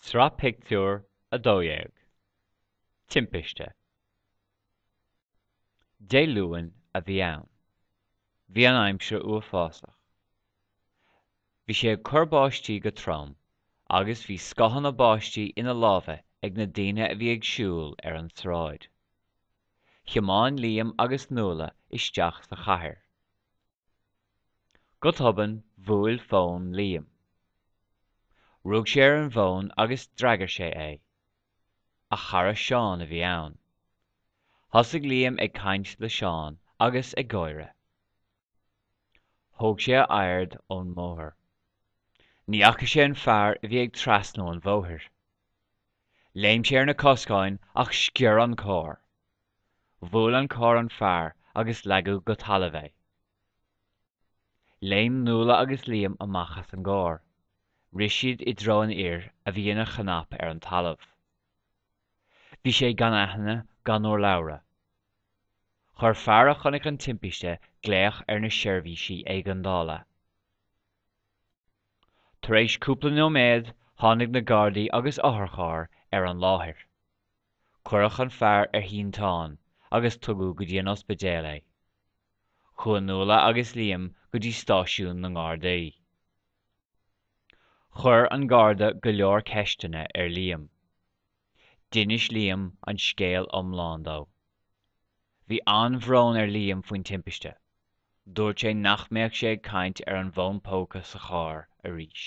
Sraith Pictiúr 12. Timpiste. Dé Luain a bhí ann. Bhí an aimsir uafásach. Bhí sé ag cur báistí go trom agus bhí scáthanna báistí ina lámha ag na daoine a bhí ag siúl ar an tsráid. Thiomáin Liam agus Nuala isteach sa chathair. Go tobann bhuail fón Liam. Rug sé ar an bhfón agus d'fhreagair sé é. A chara Seán a bhí ann. Thosaigh Liam ag caint le Seán agus ag gáire. Thóg sé a aird ón mbóthar. Ní fhaca sé an fear a bhí ag trasnú an bhóthair. Léim sé ar na coscáin ach sciorr an carr. Bhuail an carr an fear agus leagadh go talamh é. Léim Nuala agus Liam amach as an gcarr. Rith siad i dtreo an fhir a bhí ina chnap ar an talamh. Bhí sé gan aithne gan urlabhra. Chuir fear a chonaic an timpiste glaoch ar na seirbhísí éigeandála. Tar éis cúpla nóiméad tháinig na Gardaí agus otharcharr ar an láthair. Cuireadh an fear ar shínteán agus tugadh go dtí an ospidéal é. Chuaigh Nuala agus Liam go dtí stáisiún na nGardaí. Chuir an Garda go leor ceisteanna ar Liam. D'inis Liam an scéal iomlán dó. Bhí an-bhrón ar Liam faoin timpiste. Dúirt sé nach mbeadh sé ag caint ar an bhfón póca sa charr arís.